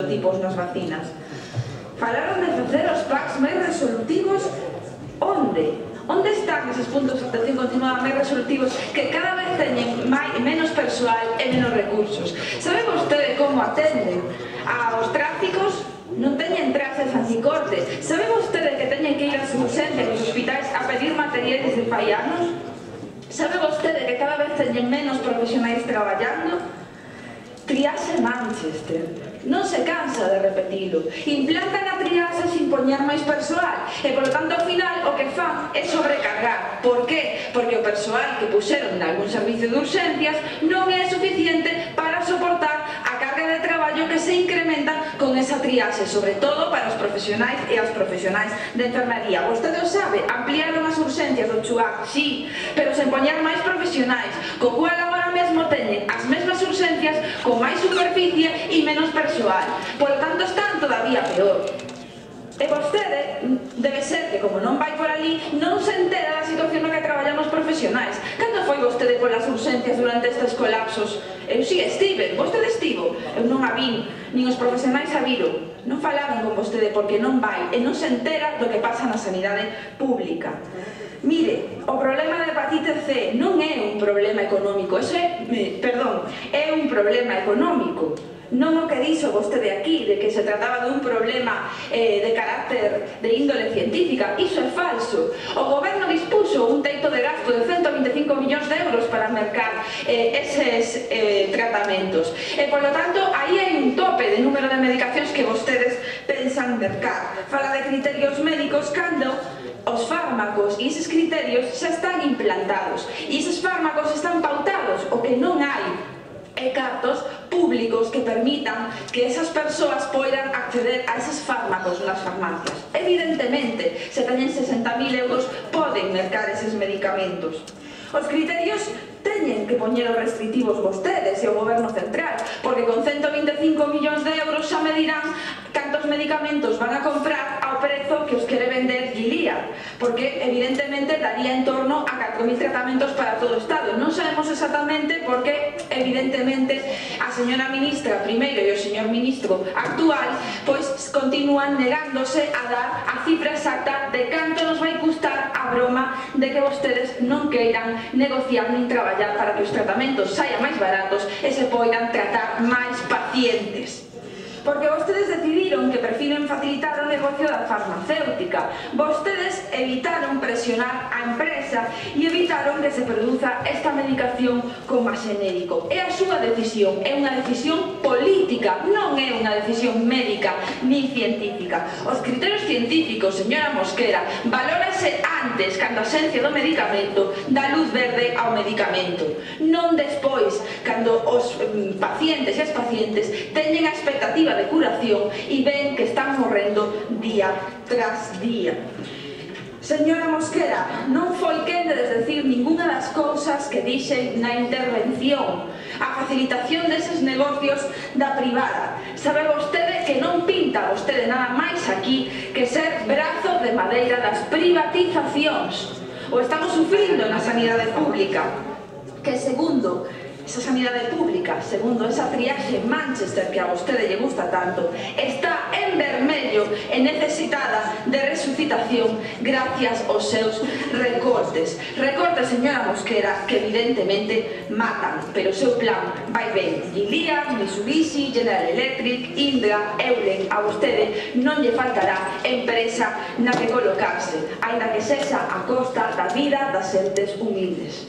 tipos nas vacinas. Falaron de facer os packs máis resolutivos. Onde? Onde están eses puntos de atención continuada máis resolutivos que cada vez teñen menos persoal e menos recursos? Sabe vostede como atenden aos tráficos? Non teñen traxes anticorte. Sabe vostede que teñen que ir ás urxencias dos hospitais a pedir materiais de fai anos? Sabe vostede que cada vez teñen menos profesionais traballando? Triaxe Manchester. Non se cansa de repetilo. Implantan a triaxe sin poñer máis persoal e, polo tanto, ao final, o que fan é sobrecargar. Por qué? Porque o persoal que puxeron en algún servicio de urxencias non é suficiente para soportar a carga de traballo que se incrementa con esa triaxe, sobre todo para os profesionais e as profesionais de enfermería. Vostede o sabe, ampliaron as urxencias do Chuac, sí, pero sen poñer máis profesionais, co cual agora mesmo teñen as mesmas urxencias con máis superficie e menos persoal. Por lo tanto, están todavía peor. E vostede debe ser que, como non vai por ali, non se entera da situación na que traballan os profesionais. Cando foi vostede polas urxencias durante estes colapsos? Eu si estive, vostede estivo. Eu non a vin, nin os profesionais a viron. Non falaron con vostede porque non vai e non se entera do que pasa na sanidade pública. Mire, o problema da hepatite C non é un problema económico, é un problema económico. Non o que dixo vostede aquí, de que se trataba dun problema de carácter de índole científica, iso é falso. O goberno dispuxo un teito de gasto de 125 millóns de euros para mercar eses tratamentos. E, por lo tanto, aí hai un tope de número de medicacións que vostedes pensan mercar. Fala de criterios médicos cando os fármacos e eses criterios xa están implantados e eses fármacos están pautados. O que non hai e cartos públicos que permitan que esas persoas poidan acceder a eses fármacos nas farmacias. Evidentemente, se teñen 60.000 euros, poden mercar eses medicamentos. Os criterios teñen que poñer os restrictivos vostedes e o goberno central, porque con 125 millóns de euros xa me dirán cantos medicamentos van a comprar ao prezo que os quere vender Gilead, porque evidentemente daría en torno a 4.000 tratamentos para todo o Estado. Non sabemos exactamente porque evidentemente a señora ministra primeiro e o señor ministro actual pois continúan negándose a dar a cifra exacta de canto nos vai custar a broma de que vostedes non queiran negociar nin traballar para que os tratamentos saian máis baratos e se poidan tratar máis pacientes. Porque vostedes decidiron que prefiren facilitar o negocio da farmacéutica. Vostedes evitaron presionar a empresa e evitaron que se produza esta medicación como xenérico. É a súa decisión, é unha decisión política, non é unha decisión médica ni científica. Os criterios científicos, señora Mosquera, valórase antes, cando a xencia do medicamento dá luz verde ao medicamento, non despois, cando os pacientes e as pacientes teñen a expectativa de curación e ven que están morrendo día tras día. Señora Mosquera, non foi quen de desdecir ninguna das cousas que dixen na intervención. A facilitación deses negocios da privada. Sabe vostede que non pinta vostede nada máis aquí que ser brazo de madeira das privatizacións. O estamos sufrindo na sanidade pública, que segundo esa sanidade pública, segundo esa triaxe Manchester que a vostede lle gusta tanto, está en vermello e necesitada de resucitación gracias aos seus recortes. Recortes, señora Mosquera, que evidentemente matan, pero o seu plan vai ben. Gilead, Mitsubishi, General Electric, Indra, Eulen, a vostede non lle faltará empresa na que colocarse, aínda que sexa a costa da vida das xentes humildes.